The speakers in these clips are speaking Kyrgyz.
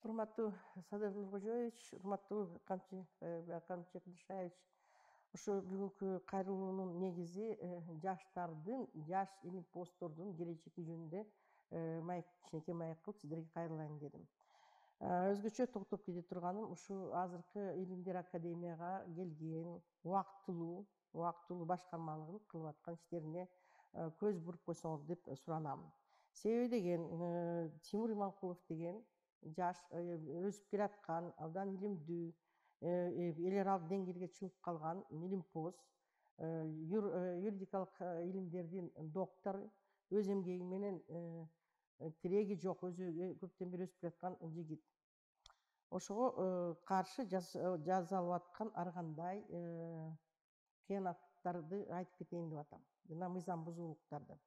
Урматтуу Садыр Нуркожоевич, урматтуу Камчек Дышаевич, ошо бүгүнкү кайрылуунун негизи жаштардын, жаш илим посттордун келечеги жөнүндө кичинекей маек кылып сиздерге кайрылайын дедим. Өзгөчө токтоп кете турганым ушул азыркы Илимдер Академияга келген убактылуу башкармалыгын кылып аткан иштерине көз буруп койсоңор деп суранам. Себеби деген Тимур Иманкулов деген жаш өсүп келаткан, абдан илимдүү, эл аралык деңгээлге чыгып калган илимпоз, юридикалык илимдердин доктору, өз эмгеги менен тиреги жок, өзү көптөн бери өсүп келаткан жигит. Ошого каршы жасалып аткан ар кандай кыянаттарды айтып кетейин деп атам, жана мыйзам бузуулуктарды.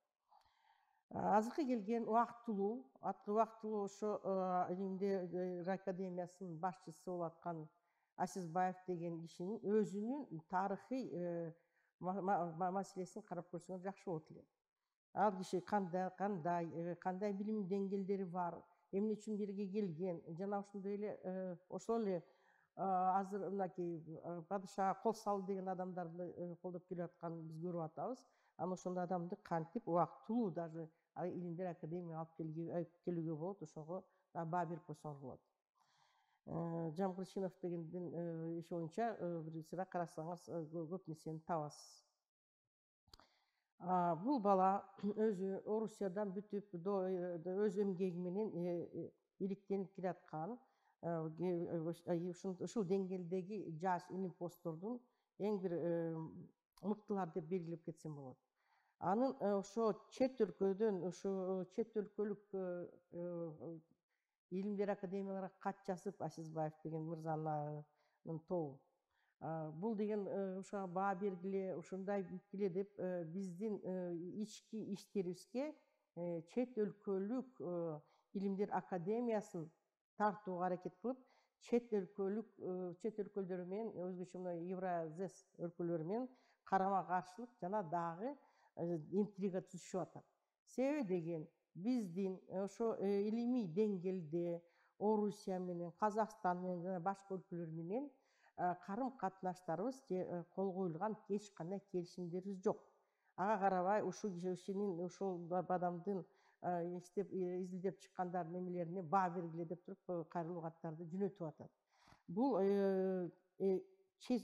Азыркы келген убактылуу ошо Илимдер Академиясынын башчысы болуп аткан Асизбаев деген кишинин өзүнүн тарыхый маселесин карап көрсөңөр жакшы болот эле. Ал киши кандай билим деңгээлдери бар, эмне үчүн бирге келген, жана ошондой эле ошол эле азыр мынакей падышага кол салды деген адамдарды колдоп келип атканын биз көрүп атабыз. Анан ошондой адамды кантип убактылуу даже Илимдер Академияга алып келүүгө болот, ошого баа берип койсоңор болот. Жамгырчинов дегендин иши боюнча бир сыйра карасаңыз көп нерсени табасыз. Бул бала өзү Орусиядан бүтүп, өз эмгеги менен иликтенип келаткан, ушул деңгээлдеги жаш илимпоздордун эң бир мыктылары деп белгилеп кетсем болот. Анын ошо чет өлкөлүк Илимдер Академияларга кат жазып, Асизбаев деген мырзанын тобу. Бул деген ушуга баа бергиле, ушундай бүткүлө деп биздин ички иштерибизге чет өлкөлүк Илимдер Академиясын тартууга аракет кылып, чет өлкөлөр менен, өзгөчө мына Евразес өлкөлөрү менен карама каршылык жана дагы интрига түзүшүп атат. Себеби деген биздин ошо илимий деңгээлде Орусия менен, Казакстан менен жана башка өлкөлөр менен карым катнаштарыбыз же кол коюлган эч кандай келишимдерибиз жок. Ага карабай ушул кишинин, ушул адамдын изилдеп чыккандар немелерине баа бергиле деп туруп кайрылуу каттарды жөнөтүп атат. Бул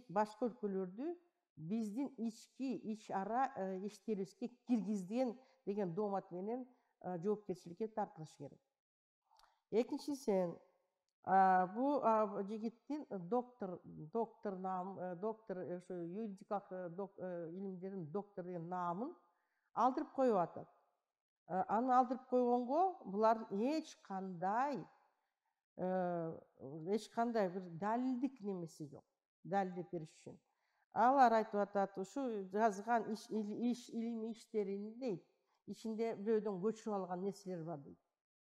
башка өлкөлөрдү биздин ич ара иштерибизге киргизген деген доомат менен жоопкерчиликке тартылышы керек. Экинчисен, бул жигиттин доктор ошо юридикалык илимдердин доктору деген наамын алдырып коюп атат. Аны алдырып койгонго булардын эч кандай бир далилдик немеси жок, далилдеп бериш үчүн. Алар айтып атат, ушу жазган илимий иштерин дейт, ичинде бирөөдөн көчүрүп алган нерселер бар дейт.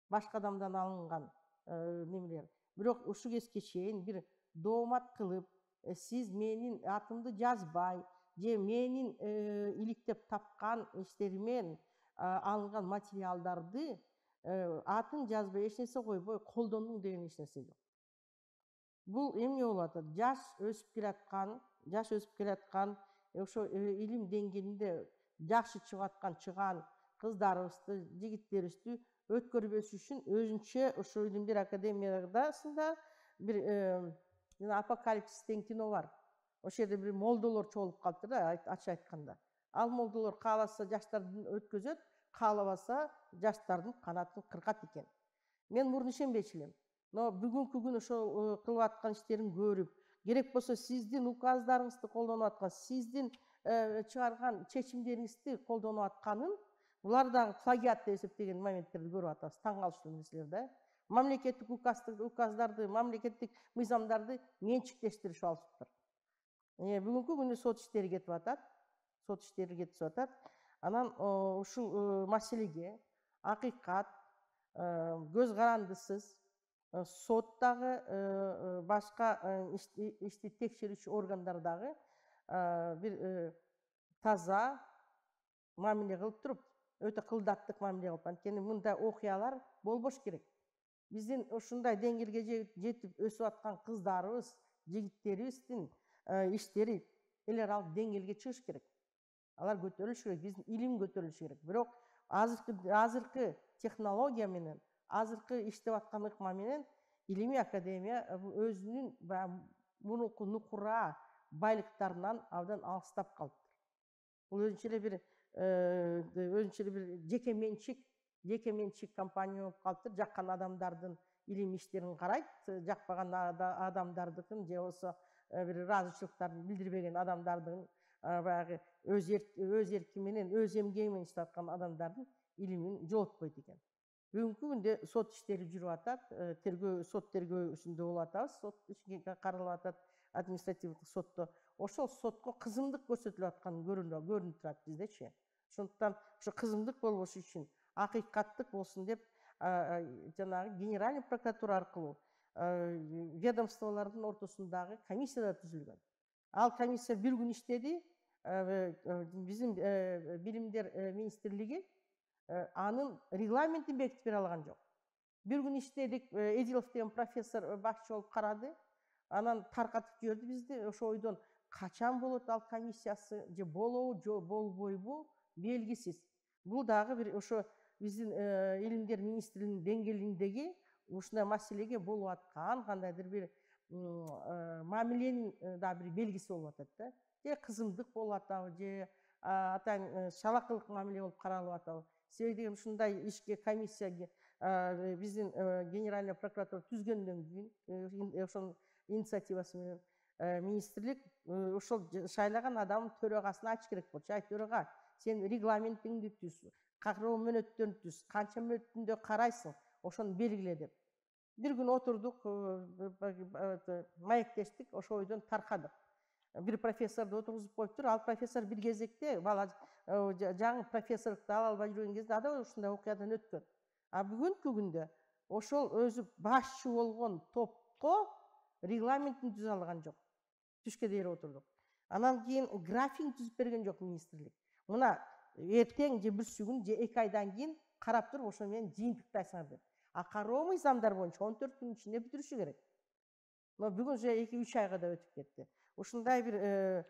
Башка адамдан алынган немелер. Бирок ушул кезге чейин бир доомат кылып, сиз менин атымды жазбай, же менин иликтеп тапкан иштеримен алынган материалдарды атын жазбай, эч нерсе койбой колдондуң деген эч нерсе жок. Бул эмне болуп атат? Жаш өсүп келаткан, ошо илим деңгээлинде жакшы чыган кыздарыбызды, жигиттерибизди өткөрбөш үчүн өзүнчө ошо Илимдер Академиясында бир жана Апокалипсис деген кино бар. Ошол жерде бир молдолор чогулуп калыптыр да, ачык айтканда. Ал молдолор кааласа жаштарды өткөзөт, каалабаса жаштардын канатын кыркат экен. Мен мурун ишенбечү элем. Но бүгүнкү күнү ошол кылып аткан иштерин көрүп, керек болсо сиздин указдарыңызды колдонуп аткан, сиздин чыгарган чечимдериңизди колдонуп атканын, булар дагы плагиат деп эсептеген моменттерди көрүп атабыз. Таң калыштуу нерселер да. Мамлекеттик указдарды, мамлекеттик мыйзамдарды менчиктештиришип алышыптыр. Бүгүнкү күнү сот иштери кетип атат. Анан ушул маселеге акыйкат, көз карандысыз сот дагы, башка ишти текшерүүчү органдар дагы бир таза мамиле кылып туруп, өтө кылдаттык мамиле кылып, анткени мындай окуялар болбош керек. Биздин ушундай деңгээлге жетип өсүп аткан кыздарыбыз, жигиттерибиздин иштери эле ал деңгээлге чыгыш керек. Алар көтөрүлүш керек, биздин илим көтөрүлүш керек. Бирок азыркы технология менен, азыркы иштеп аткан ыкма менен илимий академия өзүнүн мурунку нукура байлыктарынан абдан алыстап калыптыр. Бул өзүнчө эле бир жеке менчик компания болуп калыптыр. Жаккан адамдардын илимий иштерин карайт, жакпаган адамдардыкын же болбосо бир ыраазычылыктарын билдирбеген адамдардын баягы өз эрки менен, өз эмгеги менен иштеп аткан адамдардын илимин жоготкойт экен. Бүгүнкү күндө сот иштери жүрүп атат, сот тергөөсүндө болуп атабыз, сот иши каралып атат административдик сотто. Ошол сотко кызымдык көрсөтүлүп атканы көрүнүп турат биздечи. Ошондуктан ошо кызымдык болбош үчүн акыйкаттык болсун деп жанагы генеральный прокуратура аркылуу ведомстволордун ортосундагы комиссия да түзүлгөн. Ал комиссия бир күн иштеди. Биздин билимдер министрлиги анын регламентин бекитип бере алган жок. Бир күн иштедик, Эдилов деген профессор башчы болуп карады. Анан таркатып жиберди бизди. Ошо ойдон качан болот ал комиссиясы, же болобу, же болбойбу белгисиз. Бул дагы бир ошо биздин илимдер министрлигинин деңгээлиндеги ушундай маселеге болуп аткан кандайдыр бир мамиленин да бир белгиси болуп атат да. Же кызымдык болуп атабы, же атаң шалакылык мамиле болуп каралып атабы. Себеби деген ушундай ишке комиссия биздин генеральный прокуратура түзгөндөн кийин ошонун инициативасы менен министрлик ошол шайлаган адамдын төрагасына айтыш керек болчу. Ай төрага, сен регламентиңди түз, кароо мөөнөттөрүн түз, канча мөөнөттүндө карайсың, ошону белгиле деп. Бир күн отурдук, маектештик, ошол ойдон таркадык. Бир профессорду отургузуп коюптур. Ал профессор бир кезекте бала жаңы профессорлукту ала албай жүргөн кезде да ушундай окуядан өткөн. А бүгүнкү күндө ошол өзү башчы болгон топко регламентин түзө алган жок. Түшкө дейер отурдук. Анан кийин графин түзүп берген жок министрлик. Мына эртең же бүрсү күн же 2 айдан кийин карап туруп ошо менен жыйынтыктайсыңар деп. А кароо мыйзамдар боюнча 14 күн ичинде бүтүрүшү керек. Но бүгүн уже 2-3 айга да өтүп кетти. Ушундай бир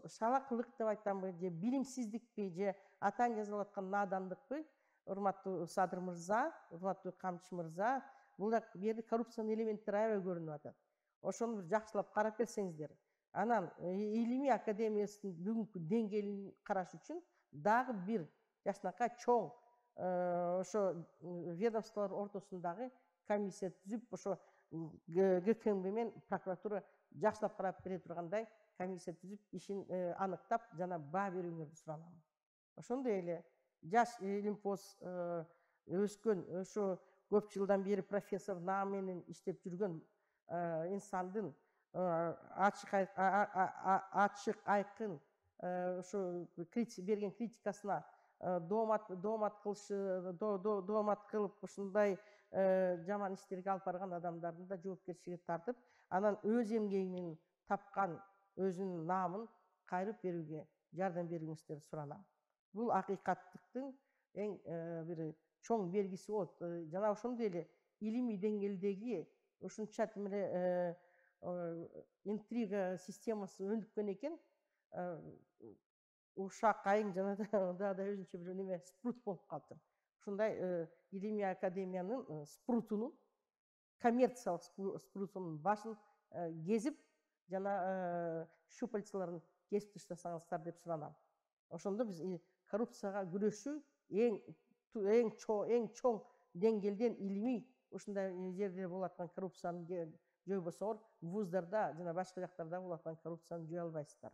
шалакылык деп айтамбы, же билимсиздикпи, же атаң жазылып аткан надандыкпы, урматтуу Садыр мырза, урматтуу Камчы мырза, бул жерде коррупциянын элементтери аябай көрүнүп атат. Ошону бир жакшылап карап берсеңиздер. Анан илимий академиясынын бүгүнкү деңгээлин караш үчүн дагы бир жакшынакай чоң ошо ведомстволор ортосундагы комиссия түзүп, ошо ГКМБ менен прокуратура жакшылап карап бере тургандай комиссия түзүп, ишин аныктап, жана баа берүүңөрдү суранам. Ошондой эле жаш илимпоз өскөн, ошо көп жылдан бери профессор наам менен иштеп жүргөн инсандын ачык айкын ошо берген критикасына доомат кылып ушундай жаман иштерге алып барган адамдардын да жоопкерчиликке тартып, анан өз эмгеги менен тапкан өзүнүн наамын кайрып берүүгө жардам берүүңүздөрдү суранам. Бул акыйкаттыктын эң бир чоң белгиси болот. Жана ошондой эле илимий деңгээлдеги ушунча тим эле интрига системасы өнүккөн экен. Ушак айың жана да өзүнчө бир неме спрут болуп калыптыр. Ушундай илимий академиянын спрутунун, коммерциялык спрутунун башын кезип, жана щупальцаларын кесип таштасаңыздар деп суранам. Ошондо биз коррупцияга күрөшүү эң чоң деңгээлден илимий ушундай жерде болуп аткан коррупцияны жойбосоңор, вуздарда жана башка жактарда болуп аткан коррупцияны жое албайсыздар.